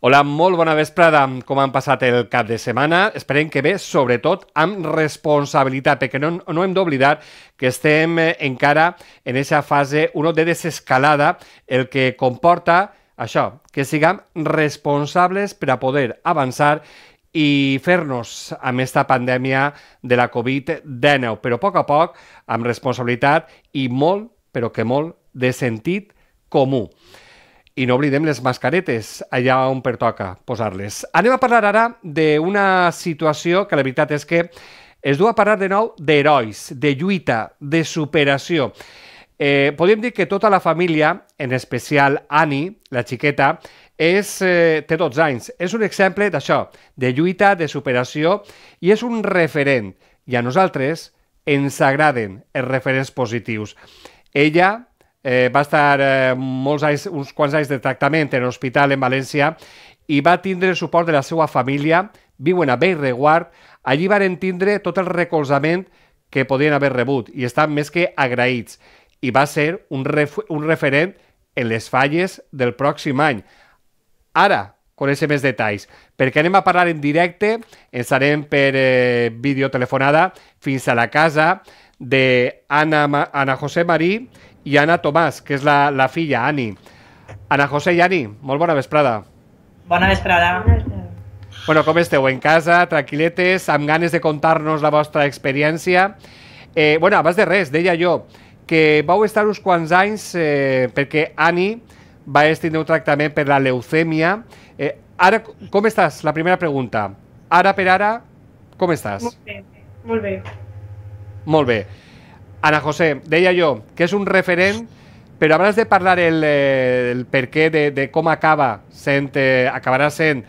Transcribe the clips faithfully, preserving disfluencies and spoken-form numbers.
Hola, molt bona vesprada. Com han passat el cap de setmana? Esperem que bé, sobretot amb responsabilitat, perquè no, no hem d'oblidar que estem encara en aquesta fase uno de desescalada, el que comporta això, que siguem responsables per a poder avançar i fer-nos amb aquesta pandèmia de la covid dinou, però a poc a poc, amb responsabilitat i molt, però que molt, de sentit comú. I no oblidem les mascaretes, allà on pertoca posar-les. Anem a parlar ara d'una situació que la veritat és que es du a parlar de nou d'herois, de lluita, de superació. Eh, podríem dir que tota la família, en especial Annie, la xiqueta, és, eh, té dotze anys. És un exemple d'això, de lluita, de superació, i és un referent. I a nosaltres ens agraden els referents positius. Ella Eh, va estar eh, molts anys, uns quants anys de tractament en l'hospital en València i va tindre el suport de la seva família, viuen a Bellreguard, allí van tindre tot el recolzament que podien haver rebut i estan més que agraïts. I va ser un, ref un referent en les falles del pròxim any. Ara coneixem més detalls, perquè anem a parlar en directe, ens anem per eh, videotelefonada fins a la casa d'Anna Ana José Marí i Anna Tomàs, que és la, la filla, Annie. Ana José i Annie, molt bona vesprada. Bona vesprada. Bueno, com esteu? En casa, tranquil·letes, amb ganes de contar-nos la vostra experiència? Eh, bueno, abans de res, deia jo que vau estar uns quants anys eh, perquè Annie va tindre un tractament per la leucèmia. Eh, ara, com estàs? La primera pregunta. Ara per ara, com estàs? Molt bé, molt bé. Molt bé. Ana José, deia jo que és un referent, però abans de parlar el, el per què de, de com acaba sent, eh, acabarà sent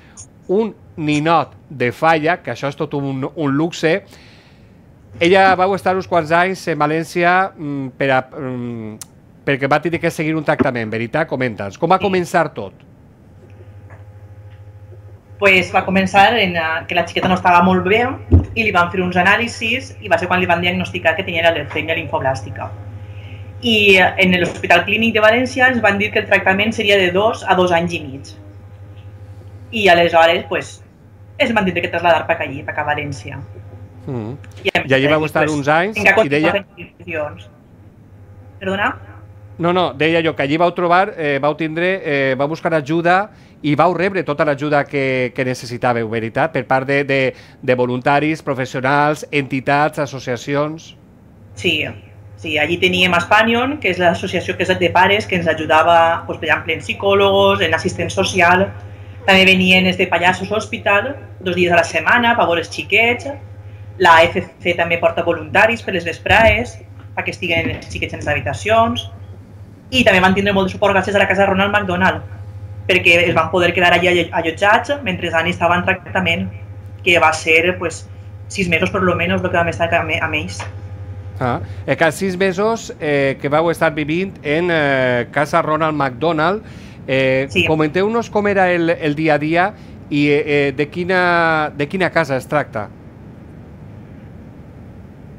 un ninot de falla, que això és tot un, un luxe. Ella va estar uns quants anys en València mm, per a, mm, perquè va tenir que seguir un tractament, veritat? Comenta'ns, com va començar tot? Pues va començar en uh, que la xiqueta no estava molt bé i li van fer uns anàlisis i va ser quan li van diagnosticar que tenia la leucèmia linfoblàstica. I uh, en l'Hospital Clínic de València ens van dir que el tractament seria de dos a dos anys i mig. I aleshores, pues, es van dir que traslladar per allí, per a València. Mm. I, I allí va estar pues, uns anys i deia... Perdona? No, no, deia jo que allí vau trobar, eh, vau tindre, eh, vau buscar ajuda i vau rebre tota l'ajuda que, que necessitàveu, veritat? Per part de, de, de voluntaris, professionals, entitats, associacions... Sí, sí, allí teníem Espanion, que és l'associació que és de pares, que ens ajudava, pues, per exemple, en psicòlogos, en assistent social. També venien els de Pallassos Hospital, dos dies a la setmana, per veure els xiquets. La A F C també porta voluntaris per les vesprades, perquè estiguen els xiquets en les habitacions. I també van tindre molt de suport gràcies a la casa Ronald McDonald, perquè es van poder quedar allà allotjats mentre Annie estava en tractament, que va ser pues, sis mesos per lo menos el que vam estar amb ells. Ah, eh, que sis mesos eh, que vau estar vivint en eh, casa Ronald McDonald. Eh, sí. Comenteu-nos com era el, el dia a dia i eh, de, quina, de quina casa es tracta.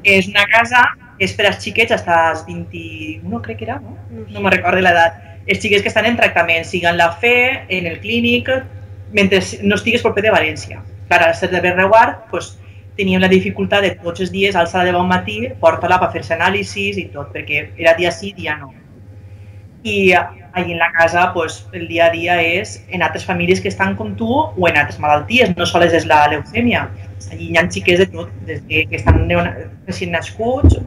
És una casa, és per als xiquets fins als vint-i-u, crec que era, no? No me'n recordo l'edat. Els xiquets que estan en tractament, siguen la fe, en el clínic, mentre no estigues proper de València. Clar, al ser de Bellreguard, pues, teníem la dificultat de tots els dies, alçar de bon matí, portar-la per fer-se anàlisis i tot, perquè era dia sí, dia no. I allà en la casa, pues, el dia a dia és en altres famílies que estan com tu o en altres malalties, no sols és la leucèmia. Allí hi ha xiquets de tot, des que estan recient nascuts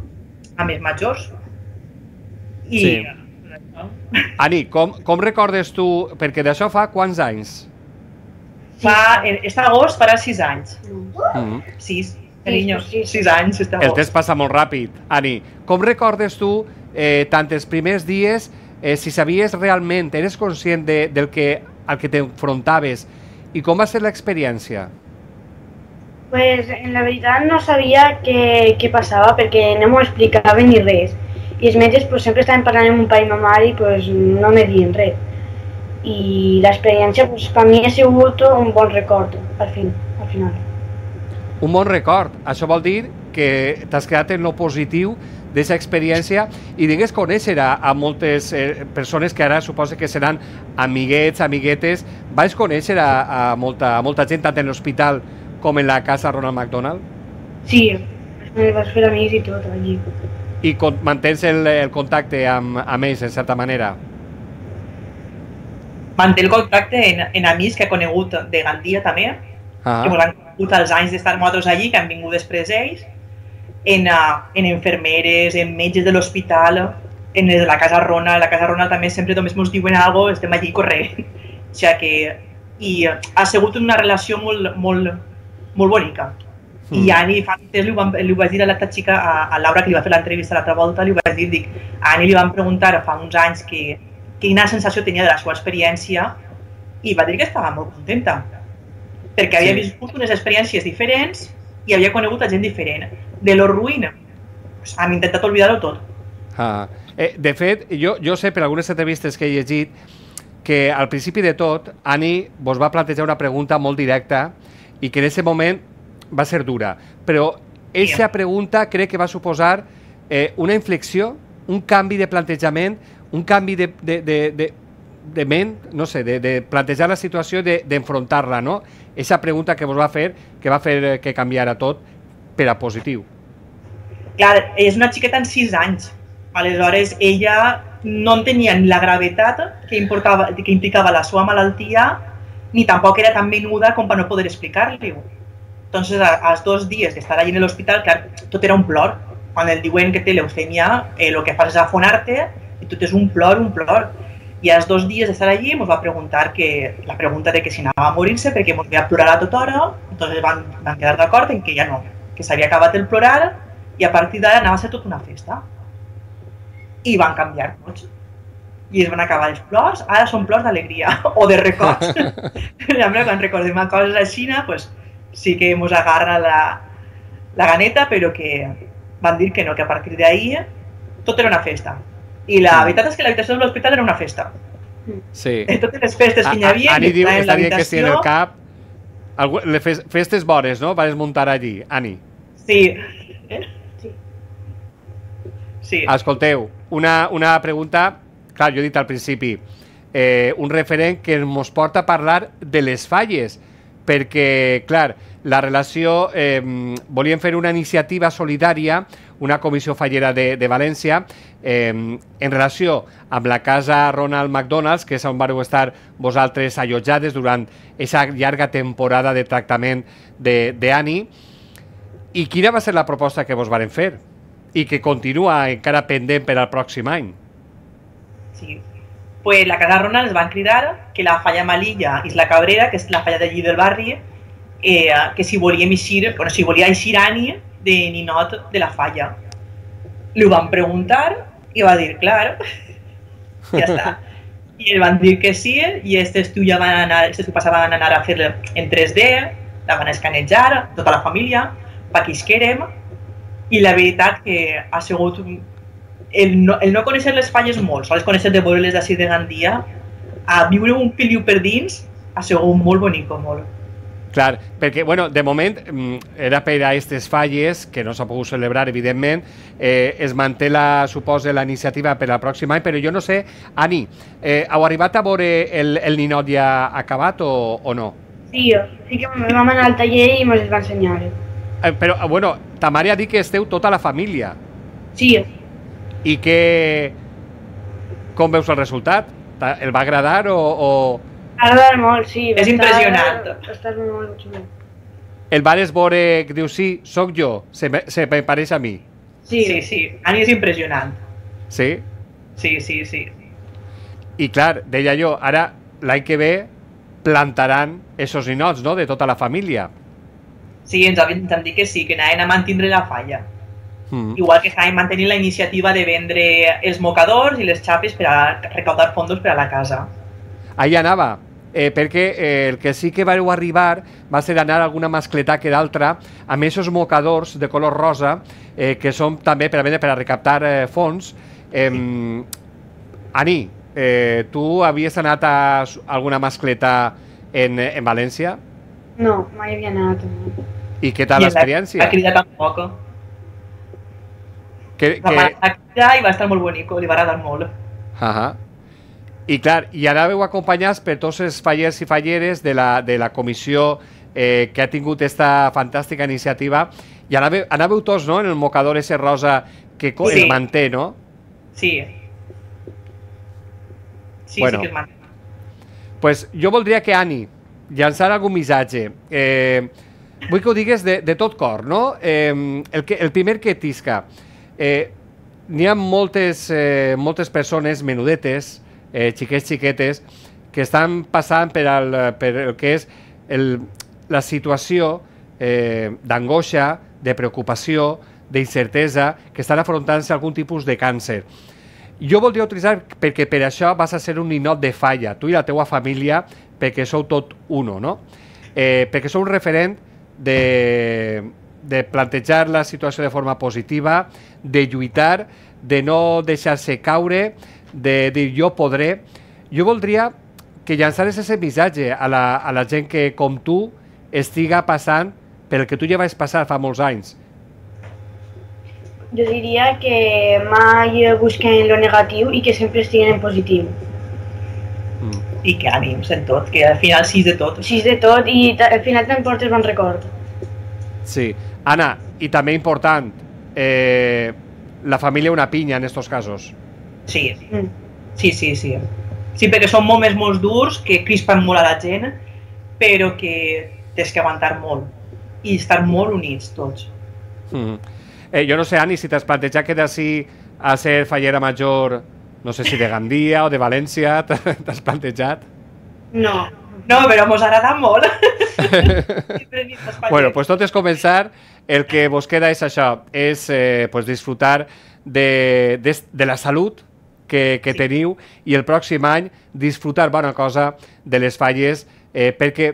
a més majors. I... Sí. Ani, com, com recordes tu, perquè d'això fa quants anys? Fa, este agost farà sis anys. Mm. Sis, carinyo, sis anys. El temps passa molt ràpid. Ani, com recordes tu eh, tant els primers dies, eh, si sabies realment, eres conscient de, del que, al que t'enfrontaves i com va ser l'experiència? Pues en la veritat no sabia què, què passava perquè no m'ho explicaven ni res. I els metges pues, sempre estaven parlant amb un pare i ma mare i pues, no me diuen res. I l'experiència pues, per mi ha sigut un bon record al, fin, al final. Un bon record. Això vol dir que t'has quedat en lo positiu d'aquesta experiència i digues conèixer a, a moltes eh, persones que ara suposa que seran amiguets, amiguetes. Vais conèixer a, a, molta, a molta gent tant en l'hospital com en la casa Ronald McDonald? Sí, me vas fer amics i tot allí. I con, mantens el, el contacte amb, amb ells, en certa manera? Manté el contacte en, en amics que he conegut de Gandia també, ah. que ens han conegut els anys d'estar nosaltres allí, que han vingut després ells, en, uh, en enfermeres, en metges de l'hospital, en la casa Ronald. La casa Ronald també sempre només ens diuen alguna cosa, estem allí corrent. O sigui que i ha sigut una relació molt, molt, molt bonica. Mm. I Ani, fa temps li, van, li ho vaig dir a l'altra xica, a, a Laura, que li va fer l'entrevista l'altra volta, li ho vaig dir, dic, a Ani li van preguntar fa uns anys que, quina sensació tenia de la seva experiència i va dir que estava molt contenta, perquè havia sí. viscut unes experiències diferents i havia conegut a gent diferent. De lo ruïna, pues, hem intentat oblidar-ho tot. Ah. Eh, de fet, jo, jo sé per algunes entrevistes que he llegit que al principi de tot, Ani vos va plantejar una pregunta molt directa i que en aquest moment va ser dura, però aquesta pregunta crec que va suposar eh, una inflexió, un canvi de plantejament, un canvi de, de, de, de, de ment, no sé, de, de plantejar la situació, d'enfrontar-la, no? Aquesta pregunta que vos va fer, que va fer que canviara tot per a positiu. Clar, és una xiqueta en sis anys, aleshores ella no entenia ni la gravetat que, importava, que implicava la seva malaltia, ni tampoc era tan menuda com per no poder explicar-li-ho. Entonces, als dos dies d'estar allí en l'hospital, clar, tot era un plor. Quan el diuen que té leucèmia, eh, el que fas és afonar-te i tot és un plor, un plor. I als dos dies d'estar allí ens va preguntar que, la pregunta de que si anava a morir-se perquè ens veia plorar a tota hora, entonces van, van quedar d'acord en que ja no, que s'havia acabat el plorar i a partir d'ara anava a ser tota una festa. I van canviar tots. I es van acabar els plors, ara són plors d'alegria o de records. Quan recordem a coses així, pues, sí que ens agarra la, la ganeta, però que van dir que no, que a partir d'ahir tot era una festa. I la veritat és que l'habitació de l'hospital era una festa. Sí. Totes les festes que hi havia, Ani diu, està dient que sí en el cap, les festes bones, no? Vas muntar allí, Ani. Sí. Sí. Escolteu, una, una pregunta, clar, jo he dit al principi, eh, un referent que ens porta a parlar de les falles, perquè, clar, la relació, eh, volíem fer una iniciativa solidària, una comissió fallera de, de València, eh, en relació amb la casa Ronald McDonald, que és on vareu estar vosaltres allotjades durant aquesta llarga temporada de tractament d'Ani. I quina va ser la proposta que vos varen fer? I que continua encara pendent per al pròxim any? Sí. Pues la casa Ronald ens van cridar que la falla Malilla i la Cabrera, que és la falla d'allí del barri, eh, que si volíem eixir, bueno, si volia eixir Ani de ninot de la falla. Li ho van preguntar i va dir, clar, ja està. I el van dir que sí, i aquest estiu ja van anar, aquest estiu passat van anar a fer en tres D, la van escanejar, tota la família, perquè isquérem, i la veritat que ha sigut el no, el no conèixer les falles molt, sols conèixer de veure-les d'ací de Gandia, a viure un piliu per dins, ha sigut molt bonic, molt. Clar, perquè, bueno, de moment era per a aquestes falles, que no s'ha pogut celebrar, evidentment, eh, es manté, la, suposa, la iniciativa per al pròxim any, però jo no sé, Ani, eh, heu arribat a veure el, el ninot ja acabat o, o no? Sí, sí que vam anar al taller i ens va ensenyar. Eh, però, bueno, ta mare ha dit que esteu tota la família. Sí. I que... Com veus el resultat? El va agradar o...? o... Agradar molt, sí. És impressionant. Estàs molt xulo. El vares veure que diu, sí, sóc jo, se me, se me pareix a mi. Sí, sí, sí. Ani és impressionant. Sí? Sí, sí, sí. I clar, deia jo, ara l'any que ve plantaran esos ninots, no?, de tota la família. Sí, ens han dit que sí, que anaven a mantindre la falla. Mm. Igual que estaven mantenint la iniciativa de vendre els mocadors i les xapes per a recaudar fondos per a la casa. Allà anava, eh, perquè eh, el que sí que vareu arribar va ser anar a alguna mascletà que d'altra amb aquests mocadors de color rosa, eh, que són també per a vendre per a recaptar eh, fons. Eh, sí. Ani, eh, tu havies anat a alguna mascletà en, en València? No, mai havia anat. I què tal l'experiència? La crida tampoc. Que, Va que... marcar i va estar molt bonic, li va agradar molt. Ahà. I clar, i anàveu acompanyats per tots els fallers i falleres de la, de la comissió eh, que ha tingut esta fantàstica iniciativa, i anàveu, anàveu tots, no?, en el mocador ese rosa que sí. Es manté, no? Sí. Sí, bueno, sí que es manté. Pues jo voldria que, Ani, llançar algun missatge. Eh, vull que ho digues de, de tot cor, no? Eh, el, que, el primer que tisca. Eh, N'hi ha moltes, eh, moltes persones menudetes, eh, xiquets, xiquetes, que estan passant per el, per el que és el, la situació eh, d'angoixa, de preocupació, d'incertesa, que estan afrontant-se algun tipus de càncer. Jo voldria utilitzar, perquè per això vas a ser un ninot de falla, tu i la teua família, perquè sou tot uno, no? Eh, perquè sou un referent de, de plantejar la situació de forma positiva, de lluitar, de no deixar-se caure, de dir jo podré. Jo voldria que llançares aquest missatge a la, a la gent que, com tu, estiga passant pel que tu ja vas passar fa molts anys. Jo diria que mai busquen lo negatiu i que sempre estiguen en positiu. Mm. I que ànims en tot, que al final sis de tot. Sis de tot i al final te'n portes bon record. Sí. Anna, i també important, eh, la família una pinya en estos casos. Sí, mm. sí, sí, sí. Sí, perquè són moments molt durs que crispen molt a la gent, però que tens que aguantar molt i estar molt units tots. Mm. Eh, jo no sé, Ani, si t'has plantejat que d'ací a ser fallera major, no sé si de Gandia o de València, t'has plantejat? No. No, però mos agrada molt. Bueno, pues tot és començar. El que vos queda és això, és eh, pues disfrutar de, de, de la salut que, que sí. teniu i el pròxim any disfrutar bona cosa de les falles, eh, perquè,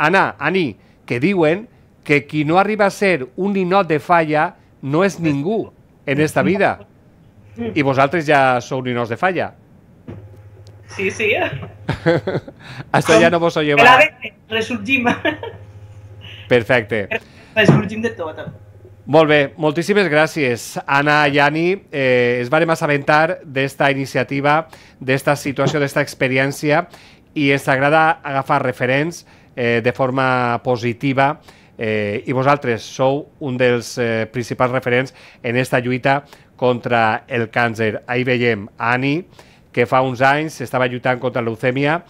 Anna, Ani, que diuen que qui no arriba a ser un ninot de falla no és ningú en esta vida. I vosaltres ja sou ninots de falla. Sí, sí. Això ja no vos ho lleva. Resorgim. Perfecte. Resorgim de tot. Molt bé, moltíssimes gràcies, Anna i Ani. Eh, es vàrem assabentar d'esta iniciativa, d'esta situació, d'esta experiència, i ens agrada agafar referents eh, de forma positiva, eh, i vosaltres sou un dels eh, principals referents en esta lluita contra el càncer. Ahí veiem a Ani, que fa uns anys estava lluitant contra la leucèmia,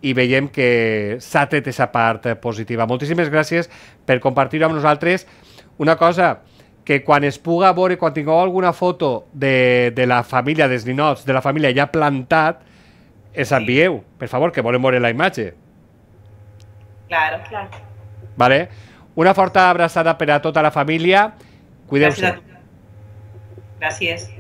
i veiem que s'ha tret aquesta part positiva. Moltíssimes gràcies per compartir-ho amb nosaltres. Una cosa, que quan es puga veure, quan tingueu alguna foto de, de la família, dels ninots, de la família ja plantat, es envieu, per favor, que volem veure la imatge. Claro, claro. Vale? Una forta abraçada per a tota la família. Cuideu-se. Gràcies.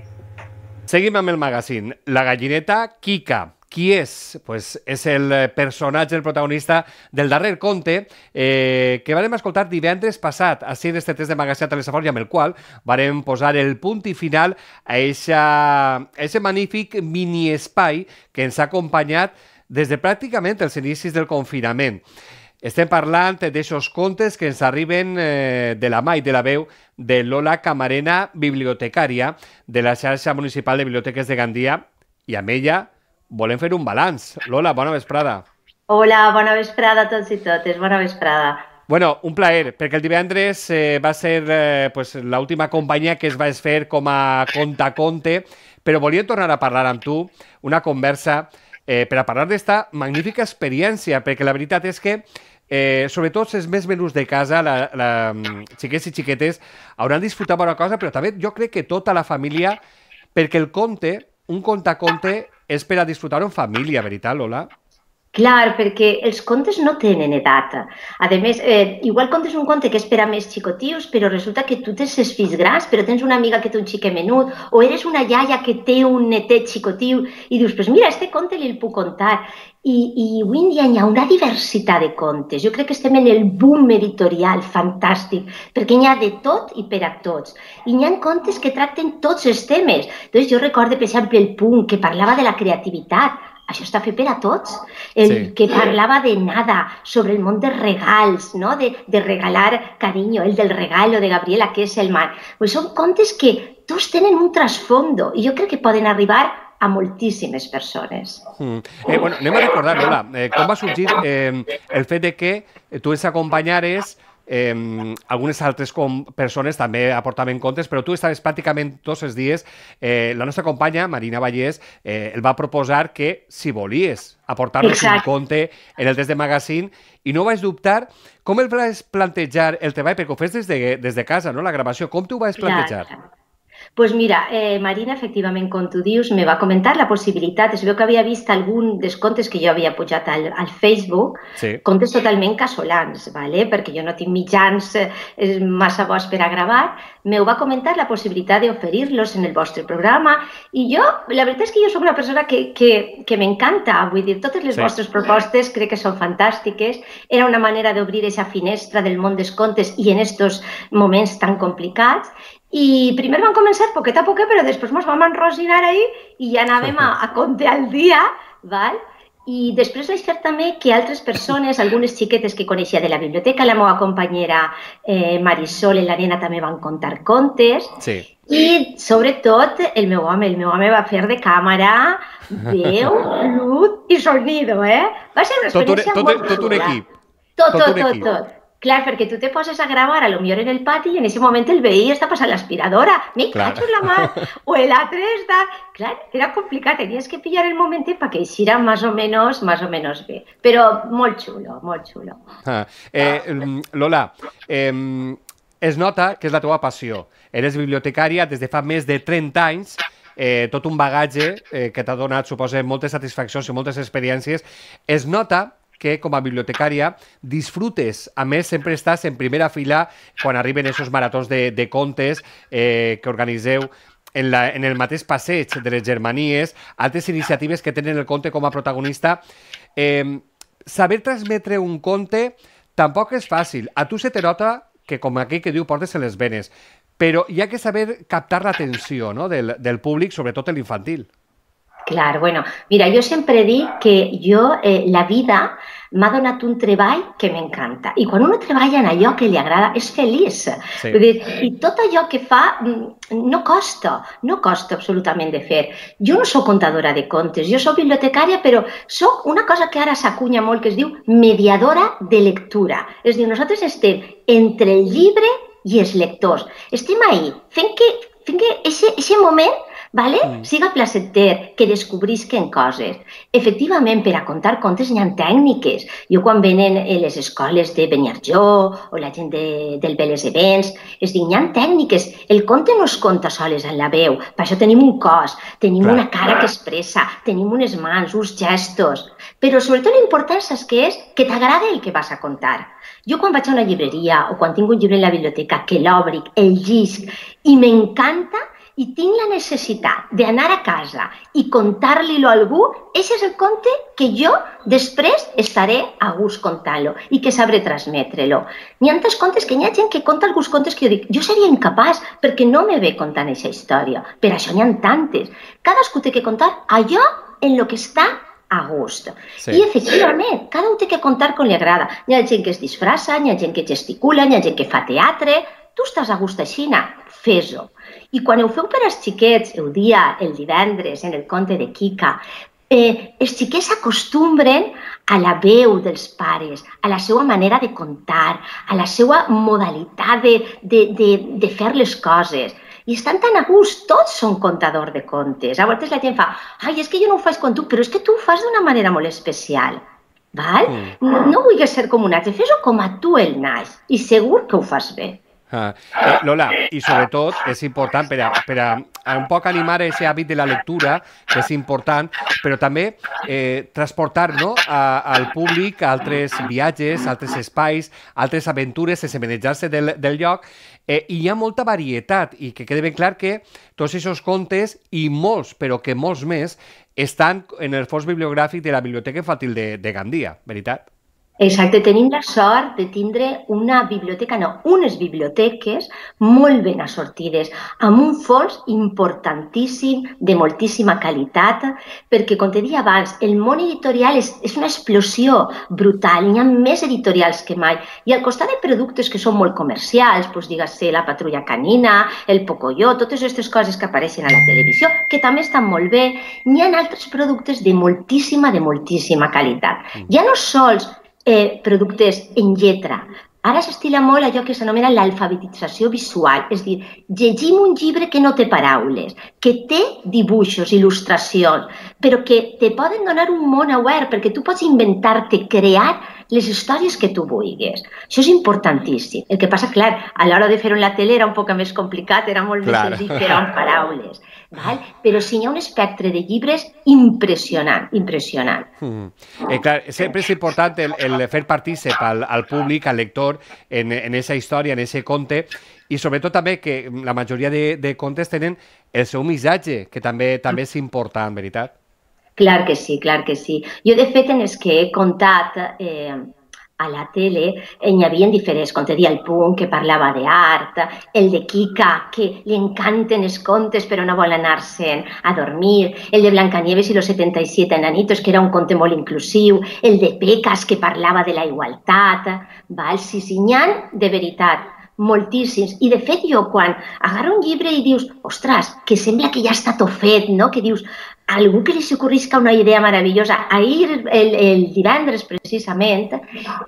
Seguim amb el magazine. La gallineta Kika. Qui és? Pues és el personatge, el protagonista del darrer conte eh, que vam escoltar divendres passat, així en este test de magazine a Telesafort, i amb el qual vam posar el punt i final a aquest magnífic mini-espai que ens ha acompanyat des de pràcticament els inicis del confinament. Estem parlant d'aixòs contes que ens arriben eh, de la mà i de la veu de Lola Camarena, bibliotecària de la xarxa municipal de biblioteques de Gandia, i amb ella volem fer un balanç. Lola, bona vesprada. Hola, bona vesprada a tots i totes, bona vesprada. Bueno, un plaer, perquè el divendres eh, va ser eh, pues, l'última companyia que es va fer com a conta-conte, però volia tornar a parlar amb tu, una conversa, eh, per a parlar d'esta magnífica experiència, perquè la veritat és que Eh, sobretot els més menús de casa, la, la, xiquets i xiquetes, hauran disfrutat bona cosa, però també jo crec que tota la família, perquè el conte, un conte-conte, és per a disfrutar en família, veritat, Lola? Clar, perquè els contes no tenen edat. A més, eh, igual contes un conte que és per a més xicotius, però resulta que tu tens els fills grans, però tens una amiga que té un xiquet menut, o eres una iaia que té un netet xicotiu, i dius, pues mira, este conte li el puc contar. I, i avui en dia hi ha una diversitat de contes. Jo crec que estem en el boom editorial fantàstic, perquè hi ha de tot i per a tots. I hi ha contes que tracten tots els temes. Doncs jo recordo, per exemple, el punt que parlava de la creativitat. Això està fet per a tots. El sí. que parlava de nada, sobre el món dels regals, no? de, de regalar carinyo, el del regalo de Gabriela Kesselman. Pues són contes que tots tenen un trasfondo i jo crec que poden arribar a moltíssimes persones. Mm. Eh, bueno, anem a recordar, Lola, eh, com va sorgir eh, el fet de que tu ens acompanyares. Eh, algunes altres com persones també aportaven contes, però tu estaves pràcticament tots els dies. Eh, la nostra companya, Marina Vallès, eh, el va proposar que, si volies, aportar-nos un conte en el test de magazine, i no vaig dubtar. Com el vas plantejar el treball? Perquè ho fes des de, des de casa, no?, la gravació. Com t'ho vas plantejar? Clar. Pues mira, eh, Marina, efectivament, com tu dius, me va comentar la possibilitat. Es veu que havia vist algun dels contes que jo havia pujat al, al Facebook, sí. Contes totalment casolans, ¿vale? Perquè jo no tinc mitjans eh, massa bons per a gravar. Me va comentar la possibilitat d'oferir-los en el vostre programa i jo, la veritat és que jo soc una persona que, que, que m'encanta, vull dir, totes les sí. vostres propostes crec que són fantàstiques. Era una manera d'obrir aquesta finestra del món dels contes i en estos moments tan complicats. I primer vam començar poquet a poquet, però després ens vam enrosinar ahí i ja anàvem a, a conte al dia, val? I després vaig fer també que altres persones, algunes xiquetes que coneixia de la biblioteca, la meva companyera eh, Marisol i la nena també van contar contes. Sí. I, sobretot, el meu home, el meu home va fer de càmera, veu, lut i sonido, eh? Va ser una experiència tot un, molt tot, tot un equip. Tot, tot, tot, tot. tot. Clar, perquè tu te poses a gravar a lo millor en el pati i en ese moment el veí està passant l'aspiradora, me cacho en la mà, o l'altre està... Clar, era complicat, tenies que pillar el moment perquè eixira més o menys, més o menys bé. Però molt xulo, molt xulo. Ah, eh, Lola, eh, es nota que és la teva passió. Eres bibliotecària des de fa més de trenta anys, eh, tot un bagatge eh, que t'ha donat, suposa, moltes satisfaccions i moltes experiències. Es nota que com a bibliotecària disfrutes, a més sempre estàs en primera fila quan arriben aquests maratons de, de contes eh, que organiseu en, la, en el mateix passeig de les Germanies, altres iniciatives que tenen el conte com a protagonista. Eh, saber transmetre un conte tampoc és fàcil. A tu se te nota que, com aquell que diu, portes en les venes, però hi ha que saber captar l'atenció, no?, del, del públic, sobretot l'infantil. Clar, bueno, mira, jo sempre dic que jo, eh, la vida m'ha donat un treball que m'encanta. I quan uno treballa en allò que li agrada, és feliç. Sí. Vull dir, i tot allò que fa no costa, no costa absolutament de fer. Jo no soc contadora de contes, jo soc bibliotecària, però soc una cosa que ara s'acunya molt, que es diu mediadora de lectura. És a dir, nosaltres estem entre el llibre i els lectors. Estem ahí, fent que, fent que ese, ese moment Vale? Mm. Siga placenter, que descobrisquen coses. Efectivament, per a contar contes hi ha tècniques. Jo quan venen les escoles de Beniarjó o la gent de, del Vélez Events, es diuen, hi ha tècniques. El conte no es conta soles en la veu. Per això tenim un cos, tenim Clar. una cara que expressa, tenim unes mans, uns gestos. Però sobretot l'important és que és que t'agrada el que vas a contar. Jo quan vaig a una llibreria o quan tinc un llibre en la biblioteca que l'obric, el llisc i m'encanta, i tinc la necessitat d'anar a casa i contar-li-lo a algú, aquest és el conte que jo després estaré a gust contant-lo i que sabré transmetre-lo. N'hi ha altres contes que hi ha gent que conta alguns contes que jo dic, jo seria incapaç perquè no me ve contant aquesta història. Per això n'hi ha tantes. Cadascú té que contar allò en el que està a gust. Sí. I, efectivament, cada un té que contar com li agrada. Hi ha gent que es disfressa, hi ha gent que gesticula, hi ha gent que fa teatre. Tu estàs a gust així, fes-ho. I quan ho feu per als xiquets, el dia, el divendres, en el conte de Kika, eh, els xiquets s'acostumbren a la veu dels pares, a la seva manera de contar, a la seva modalitat de, de, de, de fer les coses. I estan tan a gust, tots són contadors de contes. A vegades la gent fa, ai, és que jo no ho faig com tu, però és que tu ho fas d'una manera molt especial. Val? Mm. No, no vulguis ser com un altre, fes-ho com a tu el naix i segur que ho fas bé. Ah, eh, Lola, i sobretot és important per a, per a, a un poc animar aquest hàbit de la lectura, que és important, però també eh, transportar, no, a, al públic a altres viatges, altres espais, altres aventures, sense manejar-se del, del lloc, eh, i hi ha molta varietat, i que quede ben clar que tots aquests contes, i molts, però que molts més, estan en el fons bibliogràfic de la Biblioteca Infantil de, de Gandia, veritat? Exacte, tenim la sort de tindre una biblioteca, no, unes biblioteques molt ben assortides, amb un fons importantíssim, de moltíssima qualitat, perquè, com te deia abans, el món editorial és, és una explosió brutal, hi ha més editorials que mai, i al costat de productes que són molt comercials, doncs digues-se la Patrulla Canina, el Pocoyo, totes aquestes coses que apareixen a la televisió, que també estan molt bé, n'hi ha altres productes de moltíssima, de moltíssima qualitat. Ja no sols Eh, productes en lletra. Ara s'estila molt allò que s'anomena l'alfabetització visual, és a dir, llegim un llibre que no té paraules, que té dibuixos, il·lustracions, però que te poden donar un món obert, perquè tu pots inventar-te, crear les històries que tu vulguis. Això és importantíssim. El que passa, clar, a l'hora de fer-ho en la tele era un poc més complicat, era molt més senzill fer amb paraules. Val? Però sí, hi ha un espectre de llibres impressionant, impressionant. Mm. Eh, clar, sempre és important el, el fer partícip al, al públic, al lector, en, en esa història, en ese conte, i sobretot també que la majoria de, de contes tenen el seu missatge, que també també és important, veritat? Clar que sí, clar que sí. Jo, de fet, en els que he contat eh, a la tele, hi havia diferents, com te deia, el Punt, que parlava d'art, el de Kika, que li encanten els contes però no vol anar-se'n a dormir, el de Blancanieves i los setenta y siete enanitos, que era un conte molt inclusiu, el de Pecas, que parlava de la igualtat, val? Sí, sí, n'hi ha de veritat, moltíssims. I, de fet, jo, quan agarro un llibre i dius, ostres, que sembla que ja està tot fet, no? Que dius, a algú que li s'ocorrisca una idea meravellosa. Ahir, el, el divendres, precisament,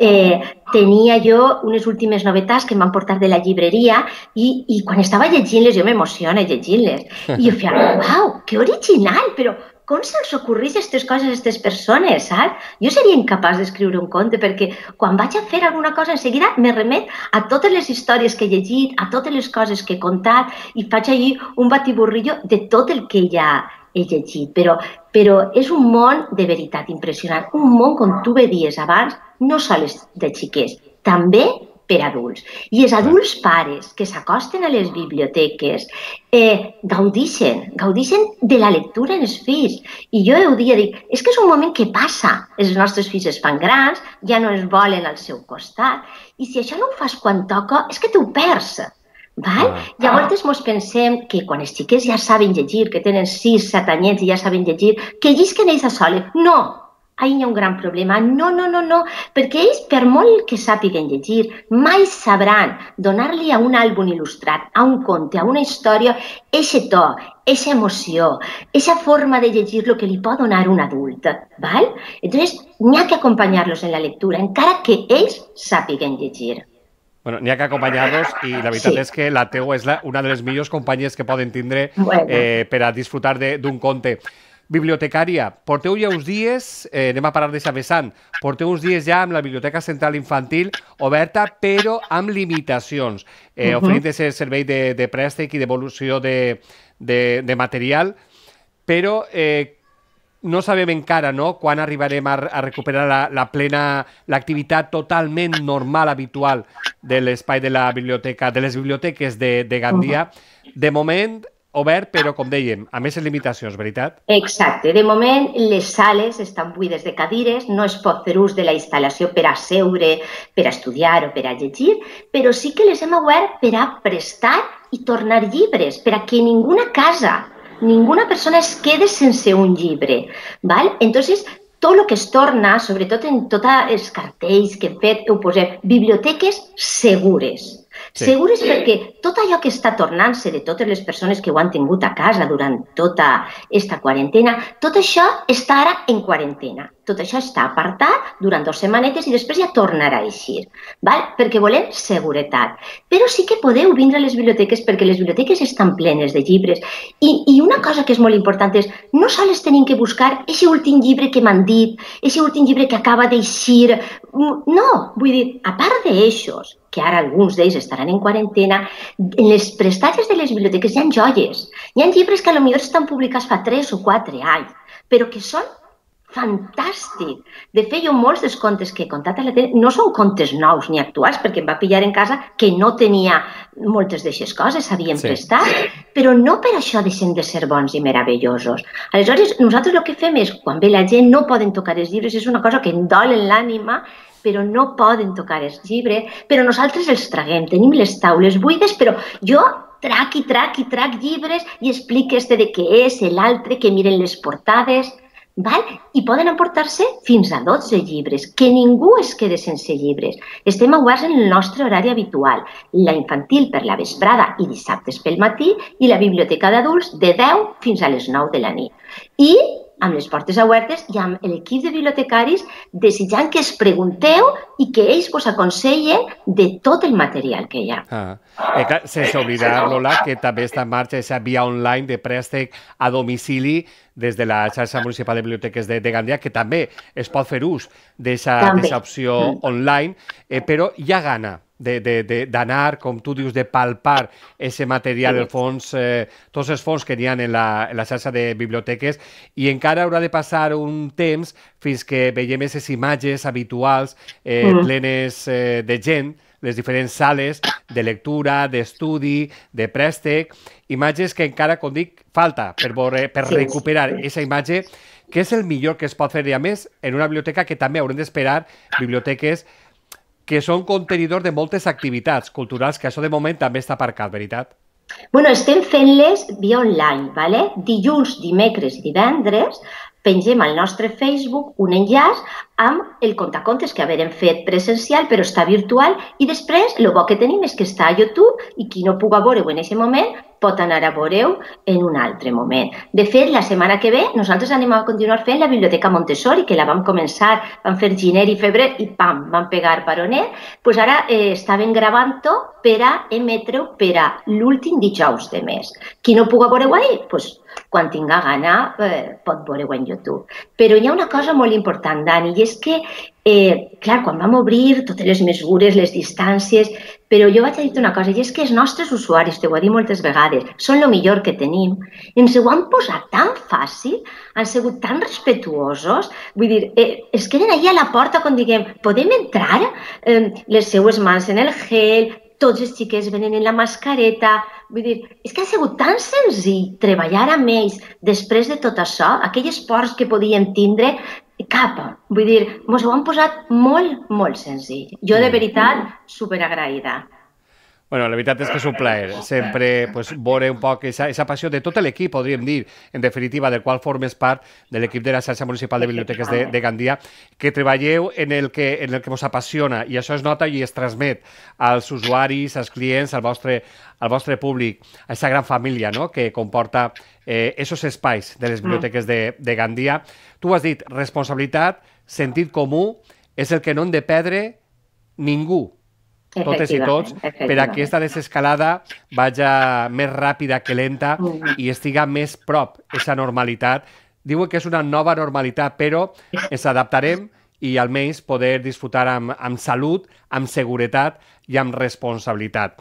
eh, tenia jo unes últimes novetats que em van portar de la llibreria i, i quan estava llegint-les, jo m'emociono llegint-les. I jo feia, uau, que original, però com se'ls ocorreix aquestes coses a aquestes persones, saps? Jo seria incapaç d'escriure un conte perquè quan vaig a fer alguna cosa, en seguida me remet a totes les històries que he llegit, a totes les coses que he contat i faig allí un batiburrillo de tot el que ja he llegit. Però, però és un món de veritat impressionant, un món, com tu bé dies abans, no sols de xiquets, també per adults. I els adults pares que s'acosten a les biblioteques eh, gaudixen, gaudixen de la lectura en els fills. I jo ho dia, dic, és que és un moment que passa. Els nostres fills es fan grans, ja no es volen al seu costat, i si això no ho fas quan toca, és que t'ho perds. Val? Llavors ens pensem que quan els xiquets ja saben llegir, que tenen sis, set anyets i ja saben llegir, que llisquen ells a soles. No! Ahí hi ha un gran problema. No, no, no, no, perquè ells, per molt que sàpiguen llegir, mai sabran donar-li a un àlbum il·lustrat, a un conte, a una història, eixe to, eixa emoció, eixa forma de llegir-lo que li pot donar un adult. Val? Entonces, n'hi ha que acompanyar-los en la lectura, encara que ells sàpiguen llegir. Bueno, n'hi ha que acompanyar-los i la veritat sí. és que la teua és la, una de les millors companyies que poden tindre bueno. eh, per a disfrutar d'un conte. Bibliotecària, porteu ja uns dies, eh, anem a parlar de vessant, porteu uns dies ja amb la Biblioteca Central Infantil oberta, però amb limitacions, eh, uh -huh. oferint ese servei de, de préstec i devolució de, de, de material, però eh, no sabem encara no, quan arribarem a, a recuperar la, la plena, l'activitat totalment normal, habitual de l'espai de la biblioteca, de les biblioteques de, de Gandia. Uh-huh. De moment, obert, però, com dèiem, amb aquestes limitacions, veritat? Exacte. De moment, les sales estan buides de cadires, no es pot fer ús de la instal·lació per a seure, per a estudiar o per a llegir, però sí que les hem obert per a prestar i tornar llibres, per a que ninguna casa, ninguna persona es quede sense un llibre. ¿Val? Entonces, tot el que es torna, sobretot en tots els cartells que hem fet, ho posem biblioteques segures. Sí. Segures perquè tot allò que està tornant-se de totes les persones que ho han tingut a casa durant tota aquesta quarantena, tot això està ara en quarantena. Tot això està apartat durant dues setmanetes i després ja tornarà a eixir, val? Perquè volem seguretat. Però sí que podeu vindre a les biblioteques perquè les biblioteques estan plenes de llibres. I, i una cosa que és molt important és no sols tenim que buscar aquest últim llibre que m'han dit, aquest últim llibre que acaba d'eixir. No, vull dir, a part d'eixos, que ara alguns d'ells estaran en quarantena, en les prestatges de les biblioteques hi ha joies. Hi ha llibres que potser estan publicats fa tres o quatre anys, però que són fantàstics. De fet, jo molts dels contes que he contat a la tele no són contes nous ni actuals, perquè em va pillar en casa que no tenia moltes d'aquestes coses, s'havien sí. prestat, però no per això deixen de ser bons i meravellosos. Aleshores, nosaltres el que fem és, quan ve la gent, no poden tocar els llibres, és una cosa que em dol en l'ànima, però no poden tocar els llibres, però nosaltres els traguem, tenim les taules buides, però jo trac i trac i trac llibres i explico este de què és, l'altre, que miren les portades, val? I poden emportar-se fins a dotze llibres, que ningú es quede sense llibres. Estem oberts en el nostre horari habitual, la infantil per la vesprada i dissabtes pel matí i la biblioteca d'adults de deu fins a les nou de la nit. I amb les portes obertes i amb l'equip de bibliotecaris desitjant que es pregunteu i que ells vos aconsellen de tot el material que hi ha. Ah. Eh, clar, sense oblidar, Lola, que també està en marxa aquesta via online de préstec a domicili des de la xarxa municipal de biblioteques de, de Gandia, que també es pot fer ús d'aquesta opció mm. online, eh, però hi ha gana d'anar, com tu dius, de palpar aquest material, el fons, eh, tots els fons que n'hi ha en la, en la xarxa de biblioteques, i encara haurà de passar un temps fins que veiem aquestes imatges habituals eh, mm. plenes eh, de gent, les diferents sales de lectura, d'estudi, de préstec, imatges que encara, com dic, falta per, veure, per sí, recuperar aquesta sí. imatge, que és el millor que es pot fer, i a més, en una biblioteca que també haurem d'esperar biblioteques que són contenidors de moltes activitats culturals, que això de moment també està aparcat, veritat? Bueno, estem fent-les via online, ¿vale? Dilluns, dimecres i divendres pengem al nostre Facebook un enllaç amb el contacontes que haverem fet presencial, però està virtual, i després el bo que tenim és que està a YouTube i qui no puga veure-ho en aquest moment pot anar a veure-ho en un altre moment. De fet, la setmana que ve nosaltres anem a continuar fent la Biblioteca Montessori, que la vam començar, vam fer gener i febrer i pam, vam pegar baronet, doncs ara eh, estaven gravant-ho per a emetre-ho per a l'últim dijous de mes. Qui no puga veure-ho ahir, doncs quan tinga gana eh, pot veure-ho en YouTube. Però hi ha una cosa molt important, Dani, i és que, eh, clar, quan vam obrir totes les mesures, les distàncies, però jo vaig a dir-te una cosa, i és que els nostres usuaris, t'ho he dit moltes vegades, són el millor que tenim, ens ho han posat tan fàcil, han sigut tan respetuosos, vull dir, eh, es queden allà a la porta quan diguem, podem entrar? Eh, les seues mans en el gel, tots els xiquets venen en la mascareta, vull dir, és que ha sigut tan senzill treballar amb ells després de tot això, aquelles pors que podíem tindre, cap, vull dir, ens ho han posat molt, molt senzill. Jo, de veritat, superagraïda. Bueno, la veritat és que és un plaer sempre pues, veure un poc aquesta passió de tot l'equip, podríem dir, en definitiva, del qual formes part de l'equip de la xarxa municipal de biblioteques de, de Gandia, que treballeu en el que, en el que vos apassiona, i això es nota i es transmet als usuaris, als clients, al vostre, al vostre públic, a aquesta gran família, no?, que comporta eh, esos espais de les biblioteques de, de Gandia. Tu has dit, responsabilitat, sentit comú, és el que no hem de perdre ningú, totes i tots, per a que aquesta desescalada vagi més ràpida que lenta i estiga més prop aquesta normalitat. Diuen que és una nova normalitat, però ens adaptarem i almenys poder disfrutar amb, amb salut, amb seguretat i amb responsabilitat.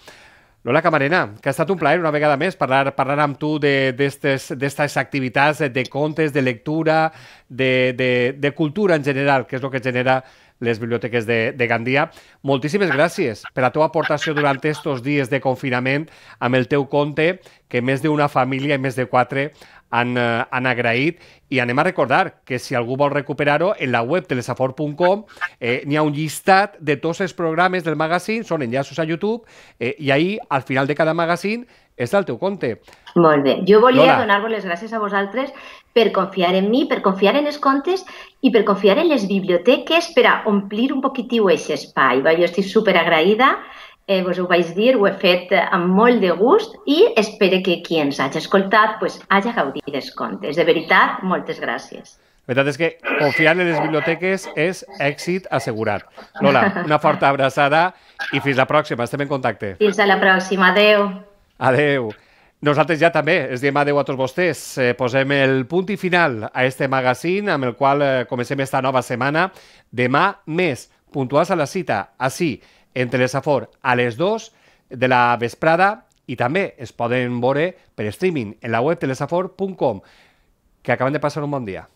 Lola Camarena, que ha estat un plaer una vegada més parlar, parlar amb tu d'aquestes activitats, de contes, de lectura, de, de, de cultura en general, que és el que genera les biblioteques de, de Gandia. Moltíssimes gràcies per la teva aportació durant aquests dies de confinament amb el teu conte, que més d'una família i més de quatre han, eh, han agraït. I anem a recordar que si algú vol recuperar-ho, en la web telesafor punt com eh, n'hi ha un llistat de tots els programes del magazine, són enllaços a YouTube, eh, i ahir, al final de cada magazine, està el teu conte. Molt bé. Jo volia donar-vos les gràcies a vosaltres per confiar en mi, per confiar en els contes i per confiar en les biblioteques per a omplir un poquitiu aquest espai. Jo estic superagraïda, eh, vos ho vaig dir, ho he fet amb molt de gust i espero que qui ens hagi escoltat pues, hagi gaudit dels contes. De veritat, moltes gràcies. La veritat és que confiar en les biblioteques és èxit assegurat. Lola, una forta abraçada i fins la pròxima. Estem en contacte. Fins a la pròxima. Adéu. Adéu. Nosaltres ja també es diem adéu a tots vostès. Eh, posem el punt i final a este magazine amb el qual eh, comencem esta nova setmana. Demà més, puntuals a la cita, així, en Telesafor, a les dues de la vesprada, i també es poden veure per streaming en la web telesafor punt com. Que acaben de passar un bon dia.